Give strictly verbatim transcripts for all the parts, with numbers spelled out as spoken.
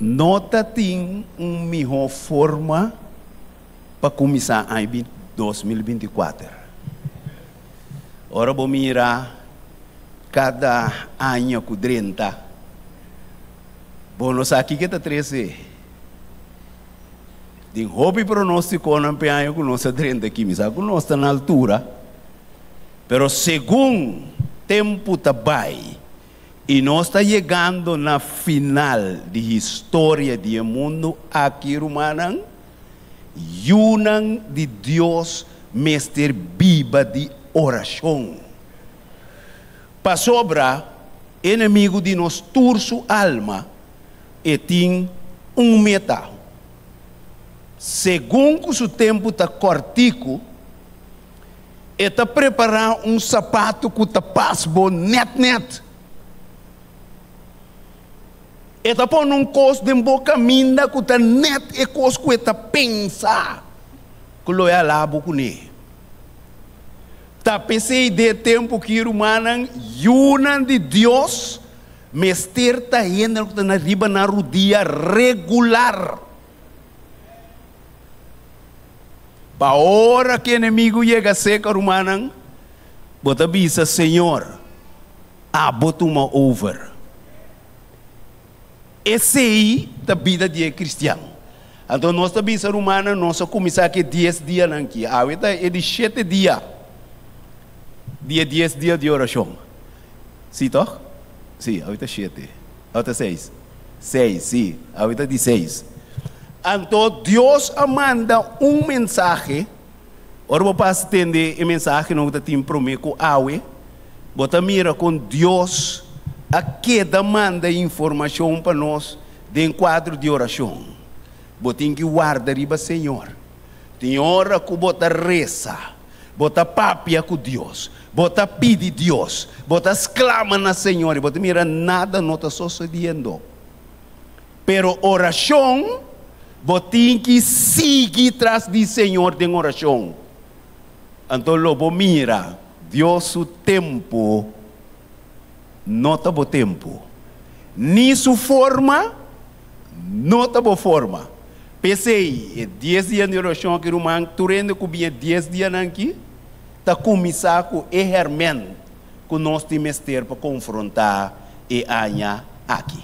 No tatin un mihó forma pa kuminsá aña dos mil binti kuater. Ora bo mira kada aña ku drenta, bo no sa kiko ta trese. Tin hopi pronóstikonan p'e aña ku nos a drenta aki, mi sa ku nos ta na altura, pero segun tempu ta bai i nos ta yegando na final di historia di e mundu aki, rumannan, yunan di Dios mester biba di orashon. Pasobra enemigu di nos tur su alma, e tin un meta. Segun ku su tempu ta kòrtiku, e ta prepará un sapatu ku ta pas bo nèt nèt. E ta pone un kos den bo kaminda ku ta nèt e kos ku e ta pensa ku lo e hala bo kuné. Ta p'esei den e tempu ki, rumannan, yunan di Dios mester ta hendenan ku ta na riba nan rudia regular. Pa ora ku enemigu yega seka, rumannan, bo ta bisa, Señor, abo tuma over. Esei ta bida di e kristian. Anto nos ta bisa, rumannan, nos a kuminsá ku e dies dianan aki. Awe ta e di shete dia di e dies dia di orashon. Sí, tòg? Sí, awe ta shete. Awe ta seis. Seis, sí, awe ta di seis. Anto Dios a manda un mensahe. Ora bo pasa tende e mensahenan ku ta tin promé ku awe, bo ta mira kon Dios a keda manda informashon pa nos den kuadro di orashon. Bo tin ki warda riba Señor. Tin ora ku bo ta resa, bo ta papia ku Dios, bo ta pidi Dios, bo ta sklama na Señor i bo ta mira nada no ta sosediendo. Pero orashon, bo tin ki sigui tras di Señor den orashon. Anto lo bo mira Dios su tempu no ta bo tempu, ni su forma no ta bo forma. P'esei, e dies dia di orashon aki, ruman, tur hende ku bin e dies dianan aki ta kuminsá ku e hèrmènt ku nos tin mester pa konfrontá e aña aki.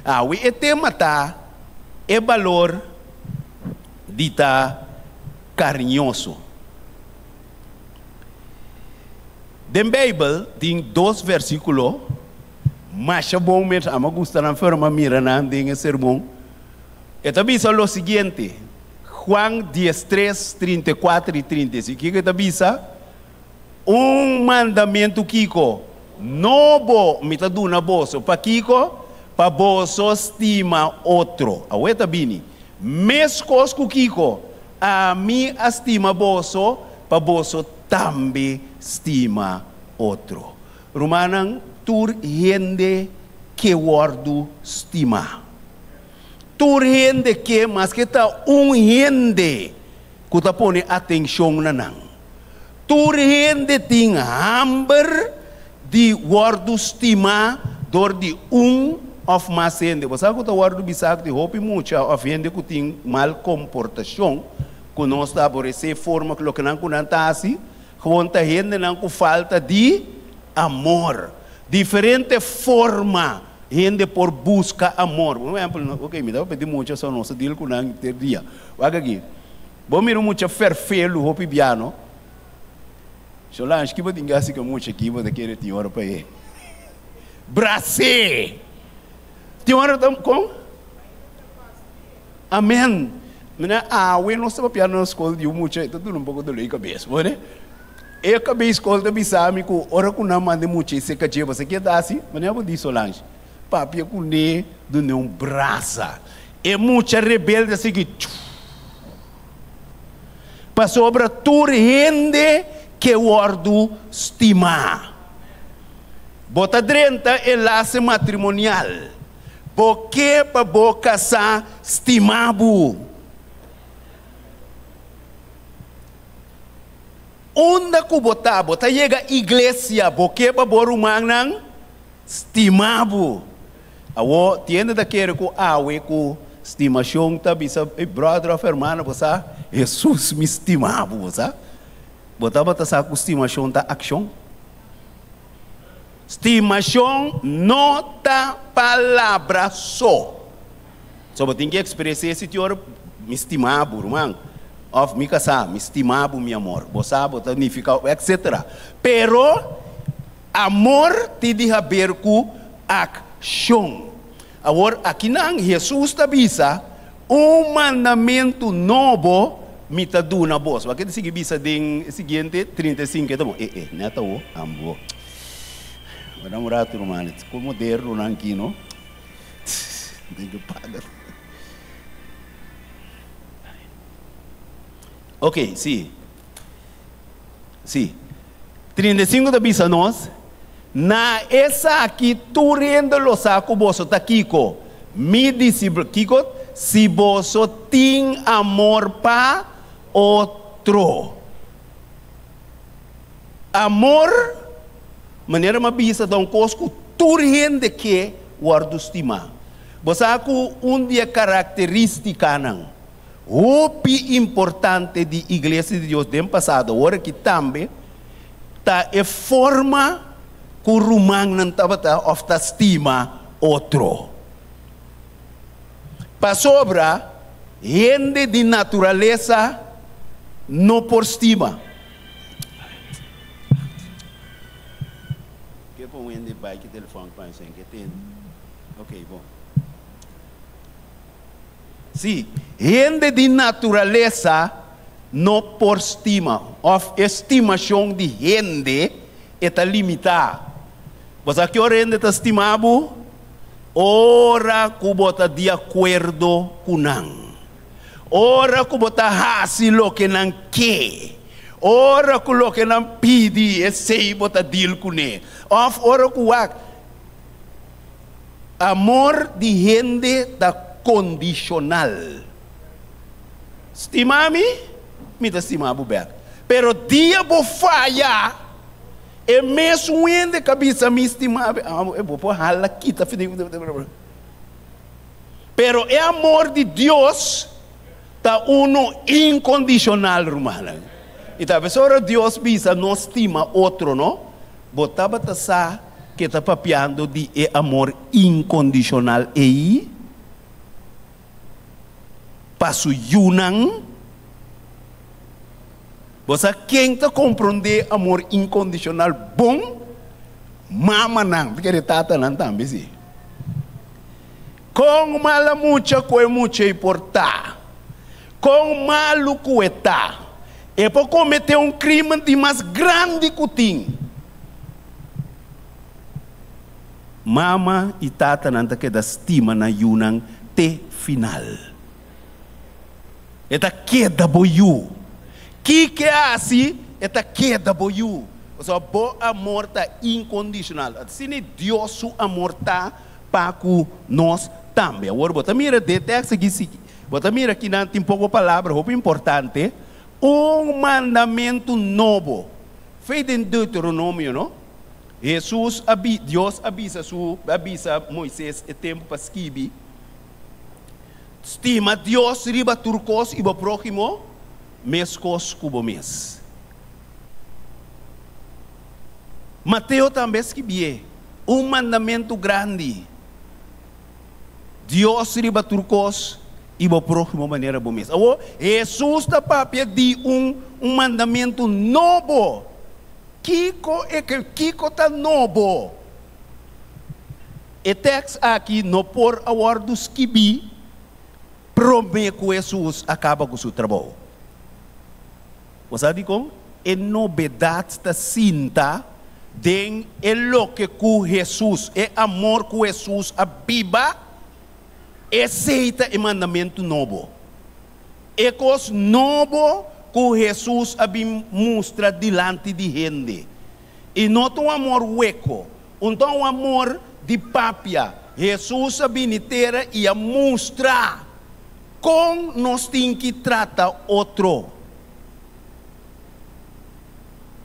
Awe e tema ta e balor di ta kariñoso. Den Beibel tin dos versíkulo masha bon mes, ami a gusta nan ferma mira nan den e sermon. E ta bisa lo siguiente, Juan dies tres, trinta i kuater i trinta i sinku, kiko e ta bisa? Un mandamentu kiko nobo mi ta duna boso, pakiko? Pa boso stima otro. Awor e ta bini, meskos ku kiko ami a stima boso, pa boso tambe stima otro. Rumannan, tur hende ke wòrdu stimá. Tur hende ke, maske ta un hende ku ta pone atenshon na nan. Tur hende tin hamber di wòrdu stimá dor di un òf mas hende. Bo sa ku ta wòrdu bisá ku tin hopi mucha òf hende ku tin mal komportashon ku nos ta aboresé forma ku loke nan ku nan ta hasi, gewoon ta hendenan ku falta di amor. Diferente forma hende por buska amor. Por ehempel, ok, mi ta papia di mucha so nos ta deal ku nan ter dia. Wak aki, bo mira un mucha ferfelu hopi biano. Solange, ki bo tin gasi ku e mucha aki bo ta kere tin ora pa e bras'é? Tin ora ta kon? Amen. Mira, awe nos ta papia na skol di un mucha, e ta duna un poko dolor di kabes, bo ne? E kabes skol ta bisa mi ku ora ku nan manda e mucha e seka dje, bo sa ke ta hasi? Manera bo di Solange, papia kuné, dun'é un brasa. E mucha rebelde a sigui tjuf. Pasobra tur hende ke wòrdu stimá. Bo ta drenta e lase matrimonial. Bo ke pa bo kasá stima bo. Unda ku bo ta, bo ta yega iglesia, bo ke pa bo rumannan stima bo. Awo tiende da kere ku awe ku stimashon ta bisa, "Hey, brother of hermano, bo sa, Jesus mi stima bo, sa. Bo tabata sa ku stimashon ta akshon? Stimashon no ta palabra so. So bo tin ku ekspresá esei ora mi stima bo, ruman. Òf mi kasá, mi stima bo, mi amor. Bo sa, bo ta nifiká, et cetera. Pero amor tin di haber ku akshon. Awor, akinan, Jesus ta bisa, "Un mandamentu nobo mi ta duna boso." Aki sigui bisa den siguiente trinta i sinku, ta bon. Eh, eh, neta o, ambo. Wak un ratu, ruman, kon moderno nan aki, no? Tin ku paga. Ok, si. Si. trinta i sinku ta bisa nos, "Na esaki tur hende lo sa ku boso ta kiko? Mi disipel, kiko? Si boso tin amor pa otro." Amor, manera m'a bisa, ta un kos ku tur hende ke wòrdu stimá. Bo sa ku un di e karakterístikanan hopi importante di Iglesia di Dios den pasado, awor aki tambe, ta e forma ku rumannan tabata òf ta stima otro. Pasobra, hende di naturalesa no por stima. Ke pon hende bai ki telefòn pa ke tin. Ok, bon. Si, hende di naturalesa no por stima. Òf estimashon di hende ta limitá. Bo sa ki ora hende ta stima bo? Ora ku bo ta di akuerdo ku nan. Ora ku bo ta hasi loke nan ke. Ora ku loke nan pidi, esei bo ta deal kuné. Òf ora ku amor di hende ta kondishonal. Stima mi, mi ta stima bo bèk. Pero dia bo faya, e mesun hende ku a bisa mi stima, ah, bo por hala kita. Pero e amor di Dios ta uno inkondishonal, ruman. I talbes ora Dios bisa nos stima otro, no? Bo tabata sa ku e ta papiando di e amor inkondishonal ei pa su yunan. Bo ken ta komprondé amor inkondishonal bon? Mamanan, pasobra tatanan tambe si. Kon mala mucha ku e mucha ei por ta. Kon malu ku e ta. E por kometé un krímen di mas grandi ku tin. Mama i tatanan ta keda stima nan yunan te final. E ta keda bo yu. Kiko hasi, e ta keda bo yu. Osea, bo amor ta inkondishonal. Asina Dios su amor ta pa ku nos tambe. Awor, bo mira e teksto aki, bo mira aki nan tin poko palabra, hopi importante. Un mandamentu nobo. For di Deuteronomio, no? Jesus, Dios a bisa su, a bisa Moises e tempu pa skirbi. Stima Dios riba tur kos i bo próhimo, meskos ku bo mes. Mateo tambe a skirbi un mandamentu grandi. Dios riba tur kos i bo próhimo manera bo mes. Awor, Jesus ta papia di un, un mandamentu nobo. Kiko e kiko ta nobo? E teksto aki no por a wòrdu skibí promé ku Jesus a kaba ku su trabou. Bo sabi kon? E novedat ta sinta den e loke ku Jesus, e amor ku Jesus a biba, esei ta e mandamentu nobo. E kos nobo ku Jesus a mustra dilanti di hende. I no un amor hueko, un un amor di papia. Jesus a bini tera i a mustra kon nos tin ku trata otro.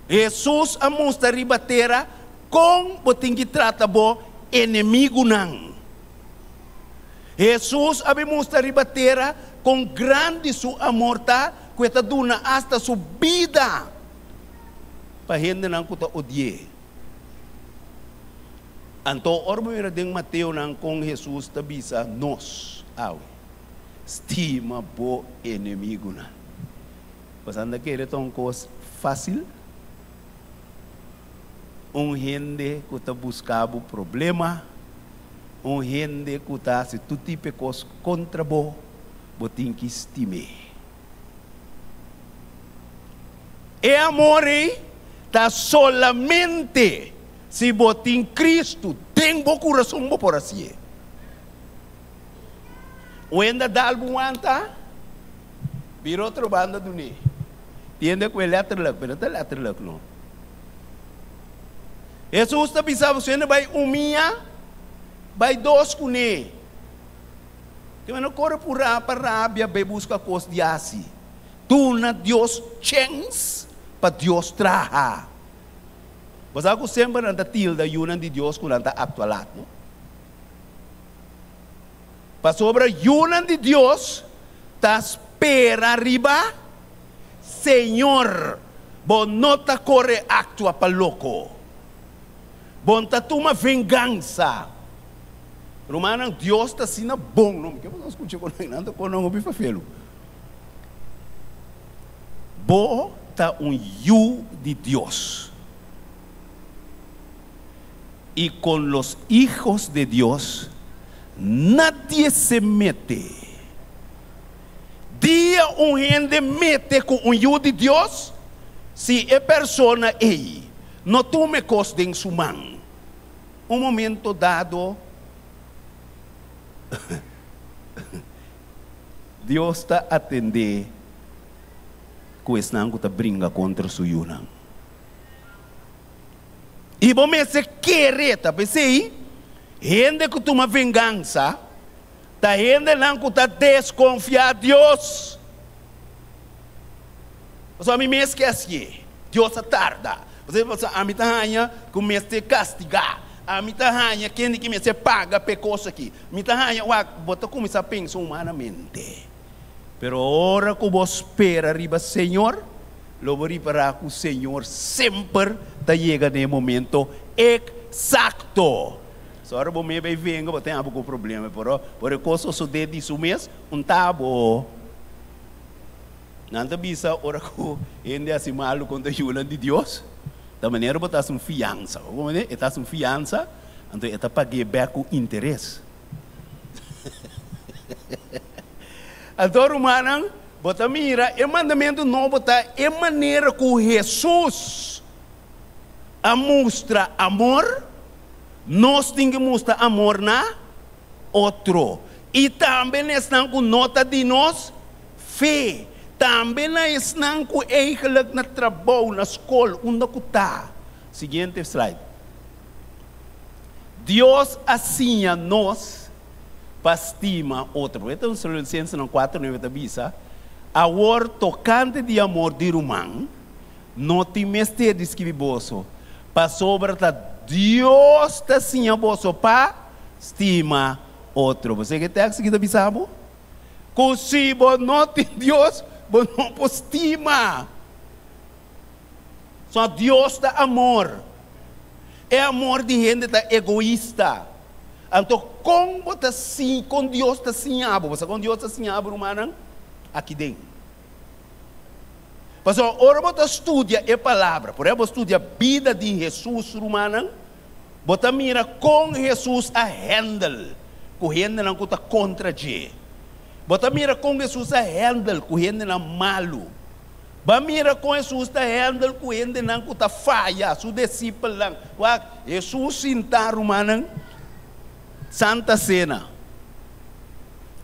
Jesus a mustra riba tera kon bo tin ku trata bo enemigunan. Jesus a bin mustra riba tera kon grandi su amor ta, ku e ta duna asta su bida pa hendenan ku ta odi'é. Anto ora bo mira den Mateonan kon Jesus ta bisa nos awe, stima bo enemigunan. Bo anda kere ta un kos fásil? Un hende ku ta buska bo problema, un hende ku ta hasi tur tipo di kos kontra bo, bo tin ku stim'é. E amor ei ta solamente si bo tin Kristu den bo kurason bo por hasié. Un hende dal bo wanta, bira otro banda dun'é. Tiende ku e letterlijk, pero no ta letterlijk no. Hesus ta bisa bo, si hende bai un mia, bai dos kuné. Ke men no kore purá pa rabia bai buska kos di hasi. Duna Dios chèns pa Dios traha. Bo sa ku semper nan ta tilda yunan di Dios ku nan ta aktua lat, no? Pasobra yunan di Dios ta spera riba Señor. Bo no ta kore aktua pa loko. Bo no ta tuma vengansa. Rumannan, Dios ta asina bon. No, mi ke boso skucha kon nan ta kon nan hopi fafelu. Bo ta un yu di Dios. Y con los hijos de Dios nadie se mete. Dia un hende mete ku un yu di Dios, si e persona ei no tuma e kos den su man, un momento dado Dios ta atendé ku esnan ku ta bringa kontra su yunan. I bo mester kere ta p'esei, hende ku tuma vengansa ta hendenan ku ta deskonfiá Dios. Pasobra ami mes ke hasié, Dios a tarda. Pasobra ami ta haña ku mester kastigá, ami ta haña kende ki mester paga p'e kos aki. Mi ta haña, wak, bo ta kuminsá pensa humanamente. Pero ora ku bo spera riba Señor, lo bo ripará ku Señor semper ta yega na e momento eksakto. So ora bo mei bai venga, bo ten abo ku problema, pero ora e kos sosodé di su mes, un ta abo. Nan ta bisa ora ku hende hasi malu kontra yunan di Dios, ta manera bo ta hasi un fiansa. Bo comprende? E ta hasi un fiansa, anto e ta pag'é bèk ku interes. Anto, rumannan, bo ta mira e mandamentu nobo ta e manera ku Hesus a mustra amor, nos tin ku mustra amor na otro. I tambe na esnan ku no ta di nos fe. Tambe na esnan ku eigenlijk na trabou, na skol, unda ku ta. Siguiente slide. Dios a siña nos pa stima otro. E ta un Tesalonicensenan kuater nuebe ta bisa, Awor tokante di amor di ruman, no tin mester di skibi boso, pasobra ta Dios ta siña boso pa stima otro. Bo sa ke tekst aki ta bisa bo? Ku si bo no tin Dios, bo no por stima. So Dios ta amor. E amor di hende ta egoista. Anto kon bo ta siña, kon Dios ta siña bo? Bo sa kon Dios ta siña bo, rumannan? Aki den. Pasobra ora bo ta studia e Palabra, por ehempel bo studia bida di Hesus, rumannan, bo ta mira kon Hesus a handle ku hendenan ku ta kontra dje. Bo ta mira kon Hesus a handle ku hendenan malu. Bo a mira kon Hesus ta handle ku hendenan ku ta faya, su disipelnan. Wak, Hesus sinta, rumannan, Santa Sena.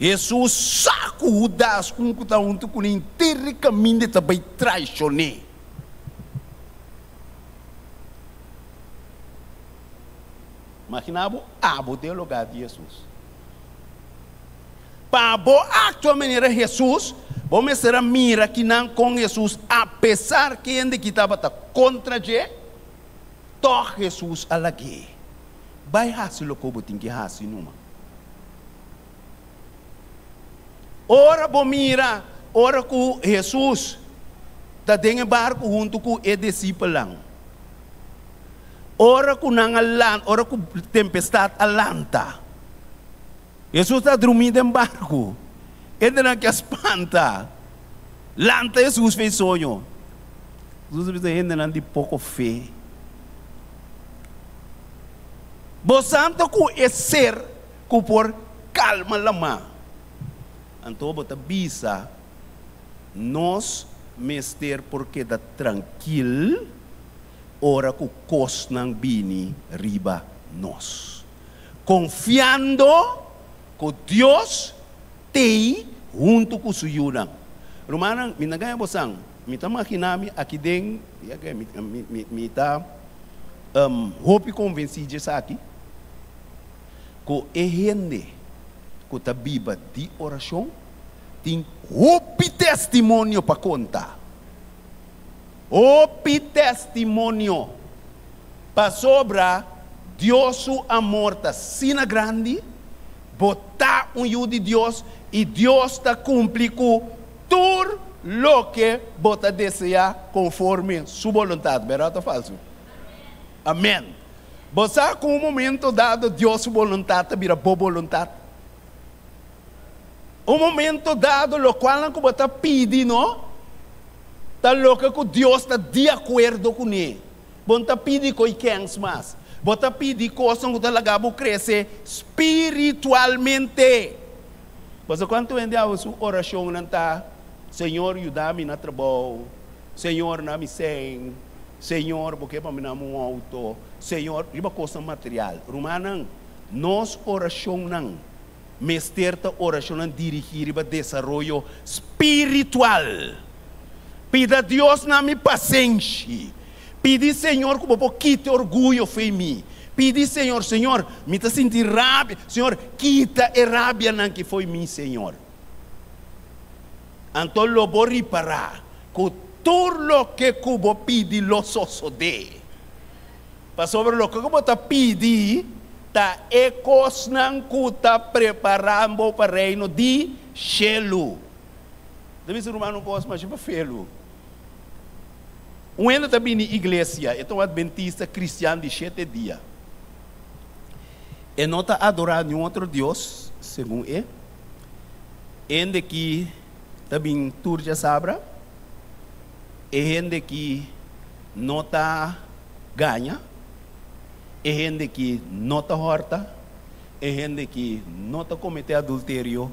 Hesus sa ku Hudas, un ku ta huntu kuné henter e kaminda, ta bai traishon'é. Imaginá bo abo den lugá di Hesus. Pa bo aktua manera Hesus, bo mester a mira kinan kon Hesus, apesar ku hende ki tabata kontra dje, tòg Hesus a lag'é bai hasi loke bo tin ki hasi numa. Ora bo mira, ora ku Hesus ta den barku huntu ku e disipelnan. Ora ku nan a lanta, ora ku tempestat a lanta. Hesus ta drumí den barku. Hendenan a spanta. Lanta Hesus for di soño. Hesus a bisa hendenan di poko fe. Bo santo ku e ser ku por kalma laman. Anto bo ta bisa nos mester por keda trankil ora ku kosnan bini riba nos. Konfiando ku Dios t'ei huntu ku su yunan. Rumannan, mi no ta gaña boso, mi ta imaginá mi aki den, mi, mi, mi, mi ta um, hopi konvensí di esaki, ku e hende ku ta biba di orashon tin hopi testimonio pa konta. Hopi testimonio. Pasobra Dios su amor ta asina grandi, bo ta un yu di Dios i Dios ta kumpli ku tur loke bo ta deseá konforme su boluntat. Berdat òf falsu? Amèn. Bo sa ku un momento dado Dios su boluntat ta bira bo boluntat. Un momento dado, loke ku bo ta pidi, no? Ta loke ku Dios ta di akuerdo kuné. Bo n' ta pidi kos mas. Bo ta pidi kos ku ta laga bo krese spiritualmente. Mas kuantu hende su orashon no ta, Señor, yuda mi na trabou. Señor, duna mi sèn. Señor, bo ke pa mi un outo. Señor, riba kos material. Rumannan, nos orashonnan, mester ta orashon dirigí riba desaroyo spiritual. Pida Dios duna mi pasenshi. Pidi Señor ku bo kita orguyo for di mi. Pidi Señor, Señor, mi ta sinti rabia. Señor, kita e rabia nan ku for di mi, Señor. Anto lo bo ripará ku tur loke ku bo pidi lo sosodé. Pasobra loke ku bo ta pidi, ta e kosnan ku ta preparando pa reino di shelu. Debe ser humano kos, mas pa felo. Un hende ta bini iglesia, e ta un adventista kristian di shete dia. E no ta adorá ningun otro Dios, segun e. Hende ku ta bin tur djasabra. E hende ku no ta gaña. E hende ku no ta hòrta. E hende ku no ta kometé adulterio.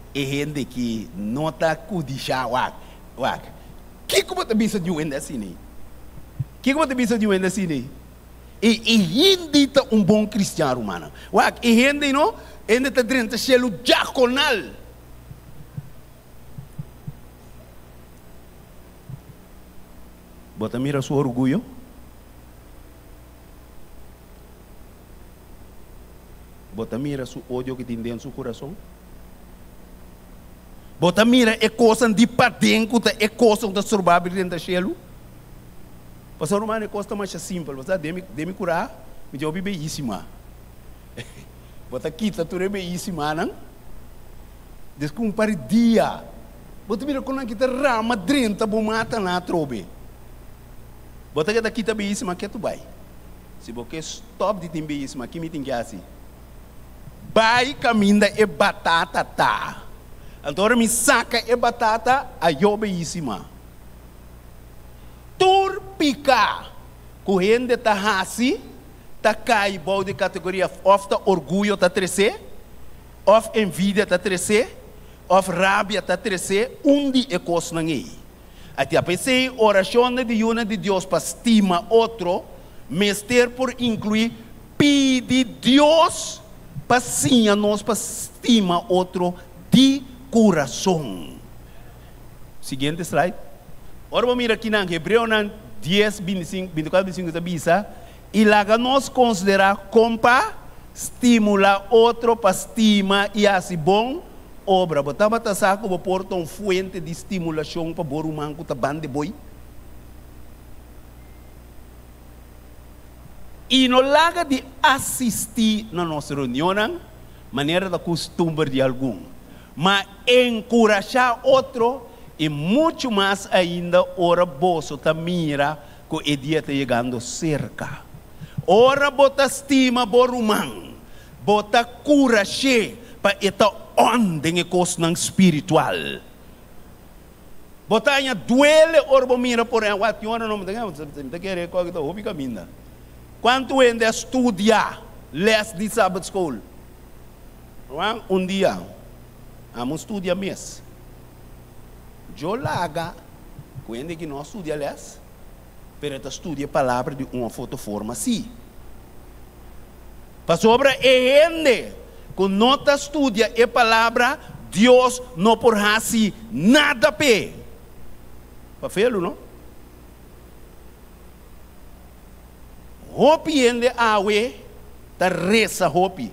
E hende ku no ta kudishá wak. Wak. Kiko bo ta bisa di un hende asina? Kiko bo ta bisa di un hende asina? E, e hende ta un bon kristian, ruman. Wak, e hende no, hende ta drenta shelu diakonal. Bo ta mira su orguyo? Bo ta mira su odio ku tin den su kurason? Bo ta mira e kos di paden ku ta e kos ku ta stroba den shelu? Pastor ruman, e kos ta mas simpel. Bo sa, den mi, den mi kurá, mi tin beyísima. Bo ta kita tur e beyísima, no? Despues un par di dia. Bo ta mira kon ku ta rama drenta bo mata nan atrobe. Bo ta kita kita beyísima ketu bai. Si bo ke stòp di tin beyísima, ki mi tin ku hasi? Bai kaminda e batata ta. Anto mi saka e batata ayó beyísima. Tur piká ku hende ta hasi, ta kai bou di kategoria òf ta orguyo ta trese, òf envidia ta trese, òf rabia ta trese, un di e kosnan ei. Ati apesei orashon di yunan di Dios pa stima otro, mester por inkluí pidi Dios pa siña nos pa stima otro di kurason. Siguiente slide. Awor ban mira aki na Hebreo dies, bintisinku, bintikuater, bintisinku ta bisa, i laga nos konsiderá kon pa stimulá otro pa stima i hasi bon obra. Bo tabata sa ku bo por ta un fuente di stimulashon pa bo ruman ku ta banda bo. I no laga di asistí na nos reunionnan, manera ta kustumber di algun. Ma enkurashá otro i muchu mas ainda ora boso ta mira ku e dia ta yegando serka. Ora bo ta stima bo ruman, bo ta kurash'é pa e ta on den e kosnan spiritual. Bo ta haña duele ora bo mira por ehèmpel, wak tin ora no mi ta kere kòke ta hopi kaminda. Kuantu hende a studia les di Sabbat School? Ruman, un dia amo studia mes. Djo laga ku hende ki no a studia les, pero e ta studia e palabra di un of otro forma si. Pasobra e hende ku no ta studia e palabra, Dios no por hasi nada p'e. Pa felu, no? Hopi hende awe ta resa hopi.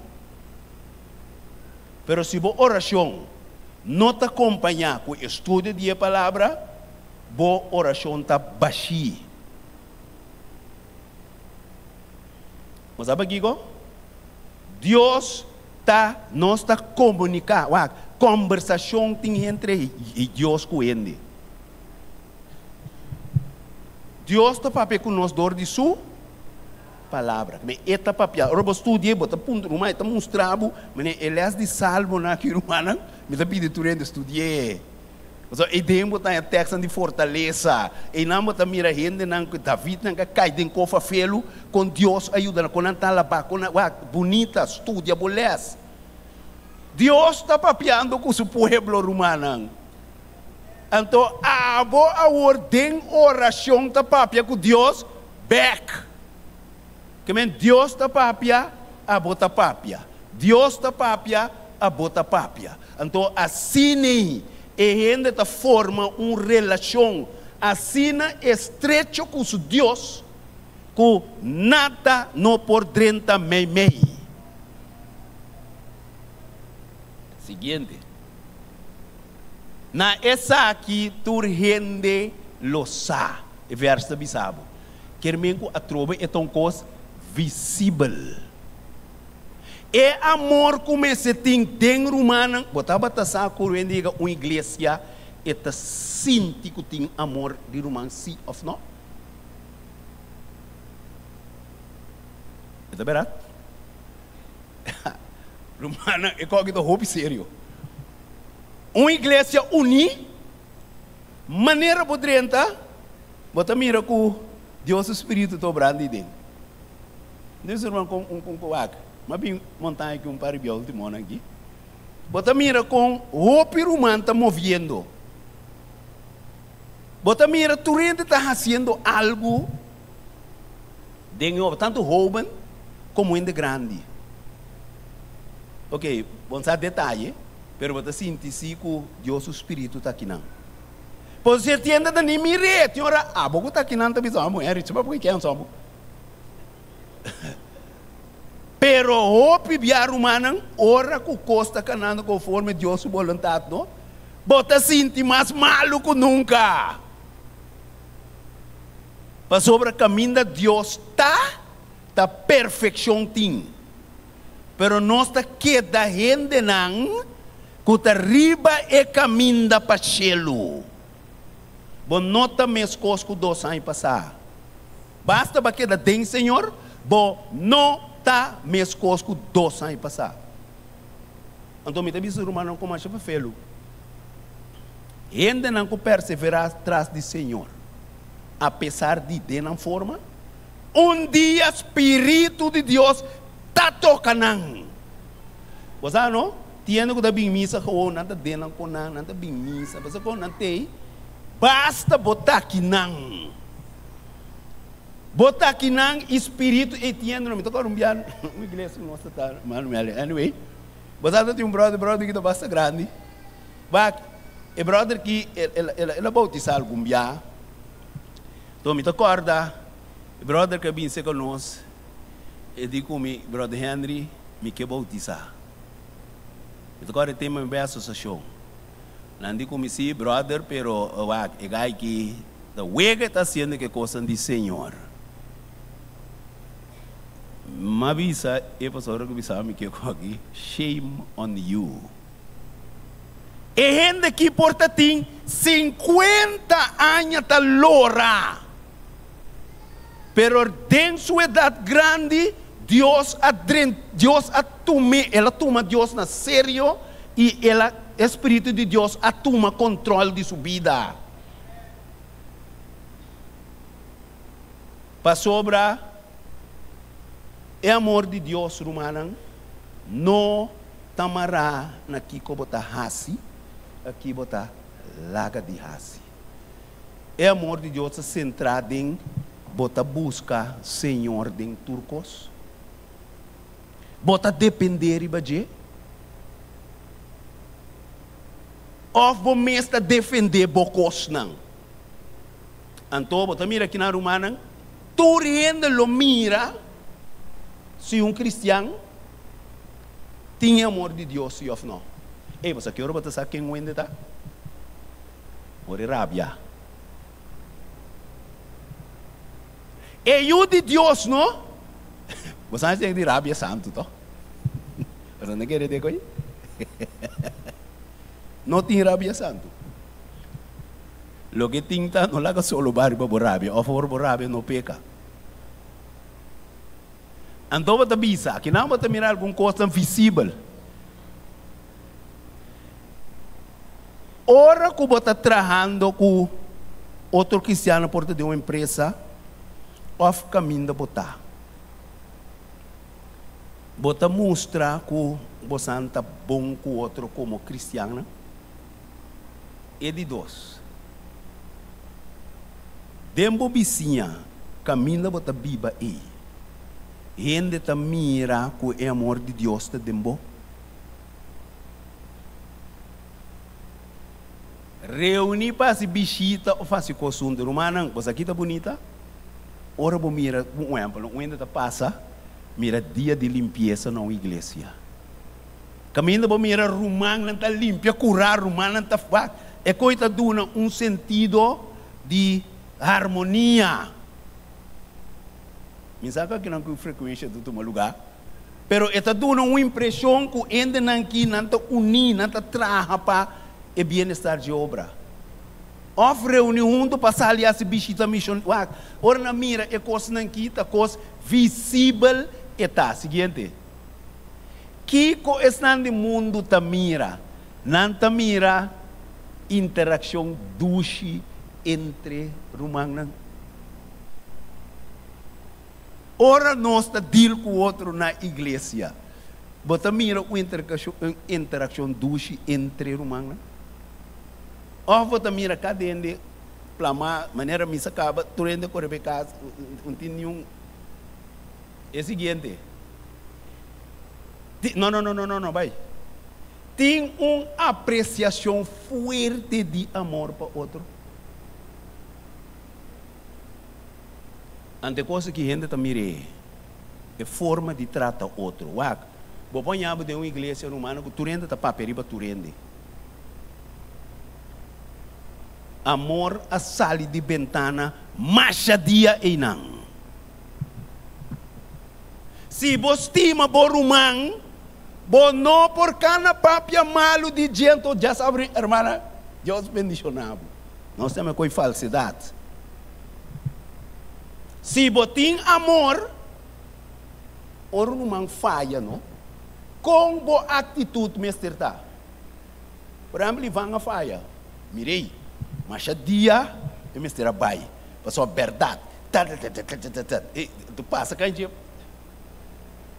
Pero si bo orashon no ta kompañá ku estudio di e Palabra, bo orashon ta bashí. Bo sa pakiko? Dios ta, nos ta komuniká, wak, kòmbersashon tin entre Dios ku hende. Dios ta papia ku nos dor di su Palabra. Me e ta papia. Ora bo studia, bo ta puntra ruman, e ta mustra bo, mane e les di Salmonan aki rumannan, mi ta pidi tur hende studi'é. Pasobra ei den bo ta haña tekstnan di fortalesa. Einan bo ta mira hendenan ku Davidnan ka kai den kofa felu, kon Dios a yuda nan, kon nan ta alabá, kon nan, wak, bunita, studia bo les. Dios ta papiando ku su pueblo, rumannan. Anto abo awor den orashon ta papia ku Dios bek. Ke men Dios ta papia, abo ta papia. Dios ta papia, abo ta papia. Anto asina e hende ta forma un relashon asina estrecho ku su Dios ku nada no por drenta meimei. Siguiente. Na esaki tur hende lo sa. E vèrs ta bisa bo, Ker men ku atrobe e ta un kos visibel. E amor ku mester tin den rumannan, bo tabata sa ku hende yega un iglesia e ta sinti ku tin amor di ruman si òf no? E ta bèrdat? Rumannan, e kos aki ta hopi serio. Un iglesia uní, manera bo drenta, bo ta mira ku Dios su spiritu ta obrando ei den. Dios ruman kon un kon wak, m'a bin montaña aki un par di bia ultimo aki. Bo ta mira kon hopi ruman ta moviendo. Bo ta mira tur hende ta hasiendo algu den e obra, tantu hoben komo hende grandi. Ok, bo no sa detaye. Pero bo ta sinti si ku Dios su spiritu ta akinan. Por si e tienda ta ni mir'é, tin ora abo ku ta akinan ta bisa, Amo Henry, chaba por ke anso abo. Pero hopi bia rumannan, ora ku kos ta kanando konforme Dios su boluntat, no, bo ta sinti mas malu ku nunka. Pasobra kaminda Dios ta, ta perfekshon tin. Pero nos ta keda hendenan ku ta riba e kaminda pa shelu. Bo no ta meskos ku dos aña pasá. Basta bo a keda den Señor, bo no ta meskos ku dos aña pasá. Anto mi ta bisa rumannan ku masha fefelu, hendenan ku perseverá tras di Señor, apesar di den nan forma, un dia Spiritu di Dios ta toka nan. Bo sa no? Tin hende ku ta bin misa gewoon, nan ta den nan kon nan, nan ta bin misa, pasobra kon nan tei, basta bo ta aki nan. Bo ta aki nan i spiritu ei tin hende no. Mi ta kòrda un bia un iglesia ku nos ta ta, Manuel, anyway, bo sa ta tin un bròder, bròder ki ta basta grandi. Wak, e bròder ki el el el a boutisá algun bia. Enton mi ta kòrda e bròder ku a bin serka nos. E di ku mi, Brother Henry, mi ke boutisá. Mi ta kòrda e tema mi bai asosiashon. Nan di ku mi, Sí, brother, pero wak, e gai ki ta wega e ta hasiendo ke kosnan di Señor. M'a bisa e pastor ku bisa mi ke ku aki, Shame on you. E hende aki por ta tin sinkuenta aña ta lora. Pero den su edat grandi, Dios a Dios a tum'é, el a tuma Dios na serio i el a e Spiritu di Dios a tuma kontrol di su bida. Pasobra e amor di Dios, rumannan, no ta mará na kiko bo ta hasi, a ki bo ta laga di hasi. E amor di Dios ta sentrá den bo ta buska Señor den tur kos. Bo ta dependé riba dje? Òf bo mes ta defendé bo kosnan? Anto bo ta mira kinan, rumannan, tur hende lo mira si un kristian tin e amor di Dios si òf no. Ey, bo sa ki ora bo ta sa ken un hende ta? Ora e rabia. E yu di Dios no? Bo sa esei di rabia santu to? Bo no kere te koe? No tin rabia santu. Loke tin ta no laga solo ba riba bo rabia of ora bo rabia no peka. Anto bo ta bisa, akinan bo ta mira algun kosnan visibel. Ora ku bo ta trahando ku otro kristiano por ta den un empresa of kaminda bo ta. Bo ta mustra ku bosan ta bon ku otro komo kristiannan? E di dos, den bo bisiña kaminda bo ta biba ei, hende ta mira ku e amor di Dios ta den bo? Reuní pa hasi bishita òf hasi kos huntu. Rumannan, bo sa ki ta bunita? Ora bo mira un ehèmpel, un hende ta pasa mira dia di limpiesa na un iglesia. Kaminda bo mira rumannan ta limpia kurá, rumannan ta wak, e koi ta duna un sentido di harmonia. Mi sa ku akinan ku frekuensha ta tuma lugá, pero e ta duna un impreshon ku hendenan ki nan ta uní, nan ta traha pa e bienestar dje obra. Òf reuní huntu pa sali hasi bishita mishon. Wak, ora nan mira e kosnan ki ta kos visibel e ta. Siguiente. Kiko esnan di mundu ta mira? Nan ta mira interakshon dushi entre rumannan. Ora nos ta deal ku otro na iglesia, bo ta mira un interakshon dushi entre rumannan? Òf bo ta mira kada hende plamá manera misa kaba, tur hende kore bai kas, no tin niun. E siguiente. No, no, no, no, no, no, bai. Tin un apresiashon fuerte di amor pa otro. Ante cosa ki hende ta mir'é, e forma di trata otro. Wak, bo por haña bo den un iglesia rumano ku tur hende ta papia riba tur hende. Amor a sali di bentana masha dia einan. Si bo stima bo ruman, bo no por kana papia malu di dje. Anto dja sabri, hermana, Dios bendiciona bo. Nos ta mekoi falsedad. Si bo tin amor, ora un ruman faya, no? Kon bo actitud mester ta? Por ehempel, Ivan a faya. Mir'ey, masha dia e mester a bai, pasobra berdad, ta-ta-ta-ta-ta-ta-ta, e ta pasa kan dje.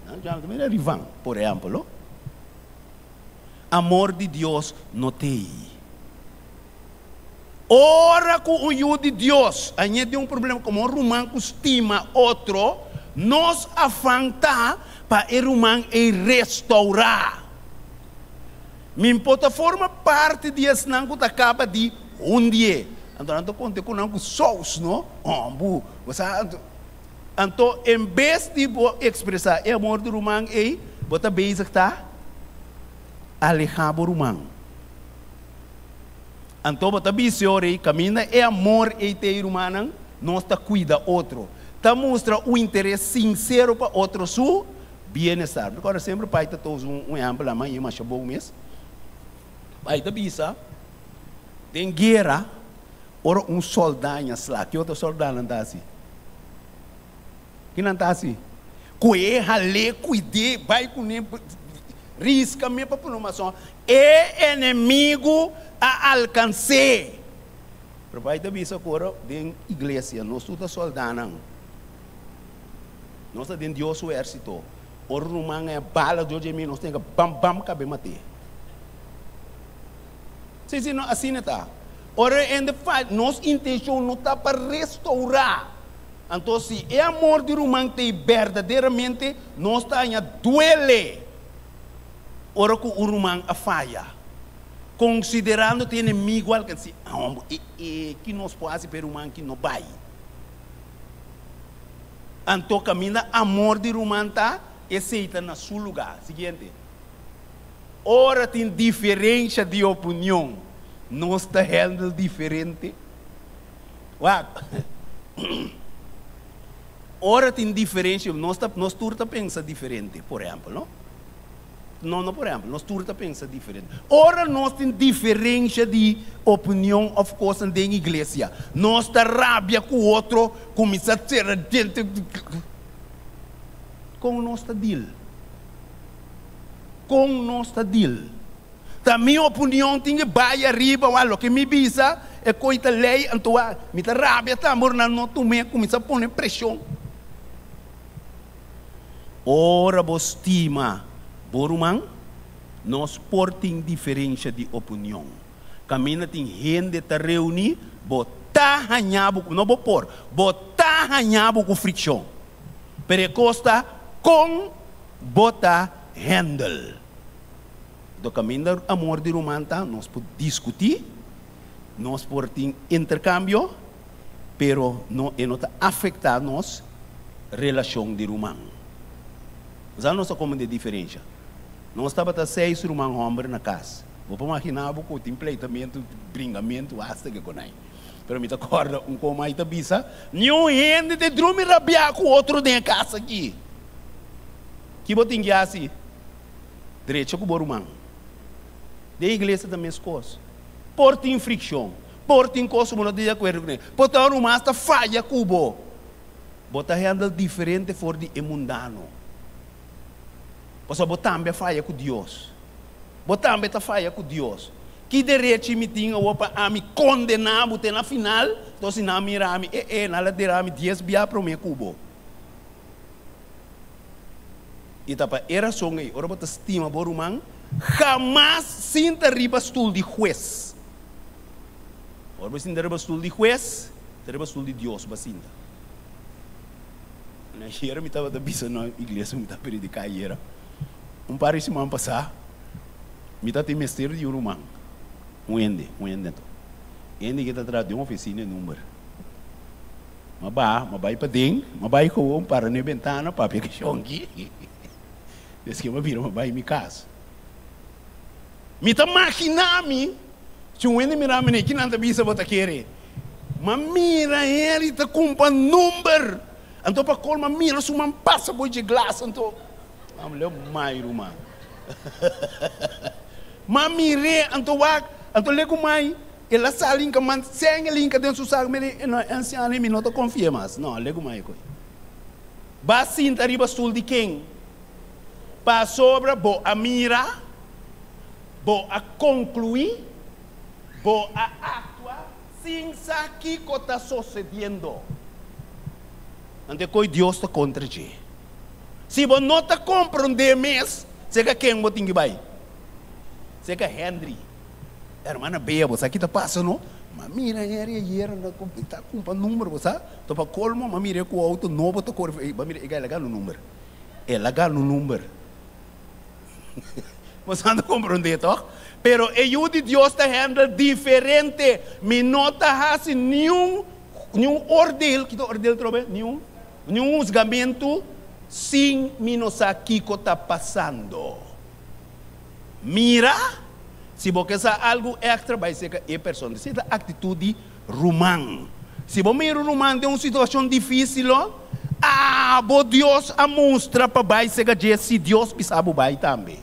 Nan dja ta mira Ivan, por ehempel, lo. Amor di Dios no t'ey. Ora ku un yu di Dios a ñe den un problema komo un ruman ku stima otro, nos afan ta pa e ruman ei restourá. Mi por ta forma parti di esnan ku ta kaba di hundié. Anto nan ta konta ku nan ku sous, no? Hombu, bo sa. Anto en bes di bo ekspresá e amor di ruman ei, bo ta bezig ta alehá bo ruman. Anto bo ta bisa ora ei, kaminda e amor ei ta ei, rumannan, nos ta kuida otro, ta mustra un interes sinsero pa otro su bienestar. Mi kòrda semper pai ta tosa un ehèmpel, a mãe masha bon mes. Bai ta bisa, den guera, ora un sòldá haña sla, ki otro sòldánan ta hasi? Ki nan ta hasi? Kue, hal'é, kuid'é, bai kuné, riska mes pa pone mason. E enemigu a alkans'é. Pero bai ta bisa ku ora den iglesia nos tur ta sòldánan. Nos ta den Dios su ehérsito. Ora ruman haña bala dor dje mi, nos tin ke bam bam kab'é mat'é. Sí, sí, no, asina ta. Ora e hende falla, nos intenshon no ta pa restourá. Anto si e amor di ruman t'ei berdaderamente, nos ta haña duele ora ku un ruman a faya. Konsiderando t'e enemigu alkans'é, ah, e, e, ki nos por hasi pa e ruman ki no bai? Anto kaminda amor di ruman ta, esei ta na su lugá. Siguiente. Ora tin diferensha di opinion, nos ta handle diferente. Wak, ora tin diferensha, nos ta, nos tur ta pensa diferente, por ehèmpel, no? No, no por ehèmpel, nos tur ta pensa diferente. Ora nos tin diferensha di opinion òf kosnan den iglesia, nos ta rabia ku otro, kuminsá sera djente. Kon nos ta deal? Kon nos ta deal? Ta mi opinion tin ke bai ariba wak loke mi bisa e koi ta lei anto wak mi ta rabia tambe ora nan no tum'é kuminsá pone preshon. Ora bo stima bo ruman, nos por tin diferensha di opinion. Kaminda tin hende ta reuní, bo ta haña bo ku, no bo por, bo ta haña bo ku frikshon. Pero e kos ta kon bo ta handle. Do kaminda amor di ruman ta, nos por diskutí, nos por tin interkambio, pero no e no ta afektá nos relashon di ruman. Sa nos ta komende diferensha. Nos tabata seis ruman hòmber na kas. Bo por maginá bo ku tin pleitamentu, bringamentu asta ke konai. Pero mi ta kòrda un komai ta bisa, Niun hende ta drumi rabiá ku otro den e kas aki. Ki bo tin ki hasi? Drecha ku bo ruman. Den iglesia ta meskos. Por tin frikshon, por tin kos ku bo no ta di akuerdo kuné, por ta un ruman asta faya ku bo. Bo ta handle diferente for di e mundano. Pasobra bo tambe a faya ku Dios. Bo tambe ta faya ku Dios. Ki derechi mi tin awor pa ami kondená bo te na final? Enton si nan mira mi, e e, nan la dera mi dies bia promé ku bo. I ta pa e rason ei, ora bo ta stima bo ruman, hamas sinta riba stul di hues. Ora bo sinta riba stul di hues, ta riba stul di Dios bo a sinta. Na ayera mi tabata bisa na iglesia mi ta prediká ayera. Un par di siman pasá, mi ta tin mester di un ruman, un hende, un hende anto. Hende ke ta traha den ofisina e number. M'a baha, m'a bai paden, m'a bai gewoon para na e bentana papia ku shonki. Despues m'a bira m'a bai mi kas. Mi ta maginá mi, si un hende mira mi na e kinan ta bisa bo ta kere. M'a mira Henry ta kumpa number. Anto pa colma mira su man pasa boy dje glas anto am leu mai ruman ma mir'é anto wak anto le ku mai el a sali hinka man seng el hinka den su sak mi di no e ansiano ei mi no ta konfia mas no le ku mai koe ba sinta riba stul di ken pasobra bo a mira bo a konkluí bo a aktua sin sa kiko ta sosediendo. Anto e koe Dios ta kontra dje. Si bo no ta komprondé mes, seka ken bo tin ki bai? Seka Henry. Hermana Bea, bo sa ki ta pasa no? M'a mira Henry ayer anda ku ta kumpa number, bo sa? To pa kolmo m'a mir'é ku outo nobo ta kore. Ey, bo a mira e el a gana un number. El a gana un number. Bo sa ta komprondé tòg? Pero e Yu di Dios ta handle diferente. Mi no ta hasi niun Niun ordeel, ki ta ordeel trobe? Niun, niun husgamentu sin mi no sa kiko ta pasando. Mira, si bo ke sa algu èkstra bai seka e persona. Esei ta aktitut di ruman. Si bo mira un ruman den un situashon difísil, abo Dios a mustra pa bai seka dje si Dios bisa bo bai tambe.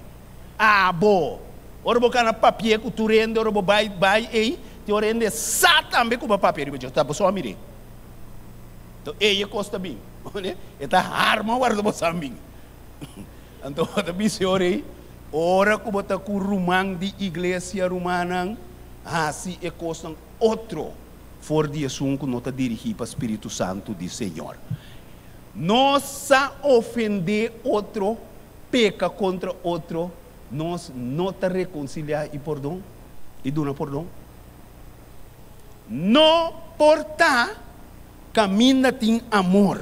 Abo. Ora bo kana papia ku tur hende, ora bo bai bai ei, tin ora hende sa tambe ku bo papia riba dje, ta bo so a mir'é. Anto ei e kos ta bin, e ta harma warda bo san bin. Anto bo ta bisa e ora ei, ora ku bo ta ku ruman di iglesia, rumannan, hasi e kosnan otro for di esun ku no ta dirigí pa Spiritu Santu di Señor. Nos sa ofendé otro, peka kontra otro, nos no ta rekonsiliá i pordon i duna pordon. No por ta kaminda tin amor.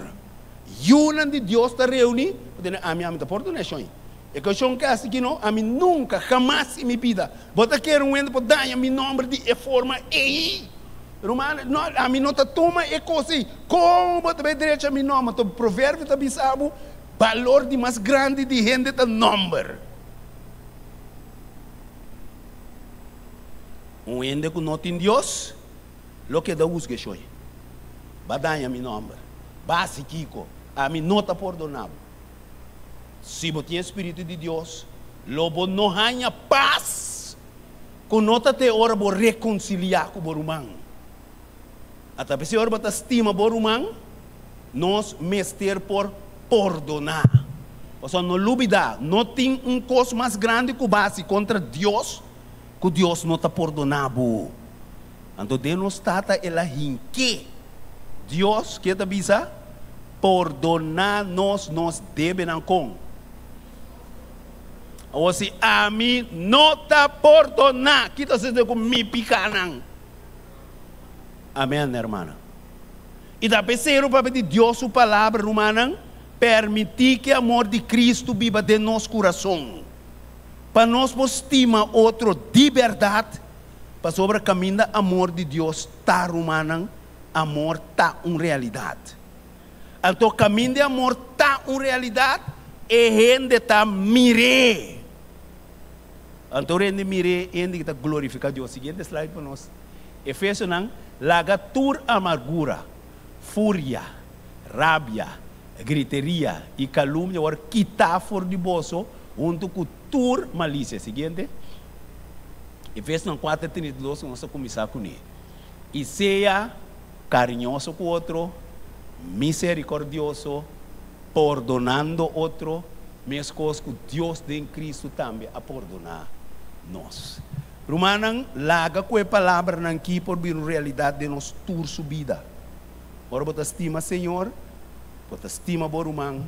Yunan di Dios ta reuní, bo tene ami, ami ta pordoná shon. E kashon kasi ki no, ami nunka, hamas in mi bida, bo ta kere un hende por daña mi nòmber di e forma ei. Ruman, no, ami no ta tuma e kos ei. Kon bo ta bai drecha mi nòmber? Anto Proverbio ta bisa bo, balor di mas grandi di hende ta nòmber. Un hende ku no tin Dios lo keda husga e shoi. Ba daña mi nòmber. Ba hasi kiko? Ami no ta pordoná bo. Si bo tin e spiritu di Dios, lo bo no haña pas ku no ta te ora bo rekonsiliá ku bo ruman. Ata p'esei ora bo ta stima bo ruman, nos mester por pordoná. Pasobra no lubidá, no tin un kos mas grandi ku bo hasi kontra Dios ku Dios no ta pordoná bo. Anto den nos Tata el a hink'é. Dios, ke ta bisa? Pordoná nos nos debenan kon? Awor si ami no ta pordoná, ki ta sucede ku mi pikánan? Amen, hermana. I ta p'esei pabia di Dios su palabra, rumannan, permití ku e amor di Kristu biba den nos kurason, pa nos por stima otro di bèrdat, pasobra kaminda amor di Dios ta, rumannan, amor ta un realidat. Anto kaminda e amor ta un realidat, e hende ta mir'é. Anto ora hende mir'é, hende ki ta glorifiká Dios. Siguiente slide pa nos. Efesionan, Laga tur amargura, furia, rabia, griteria i kalumnia wòrdu kitá for di boso huntu ku tur malisia. Siguiente. Efesionan kuater trinta i dos, nos ta kuminsá kuné. I sea kariñoso ku otro, miserikordioso, pordonando otro, meskos ku Dios den Kristu tambe a pordoná nos. Rumannan, laga ku e palabranan ki por bira un realidat den nos tur su bida. Ora bo ta stima Señor, bo ta stima bo ruman,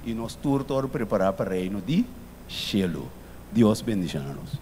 i nos tur ta ora prepará pa Reino di Shelu. Dios bendishoná nos.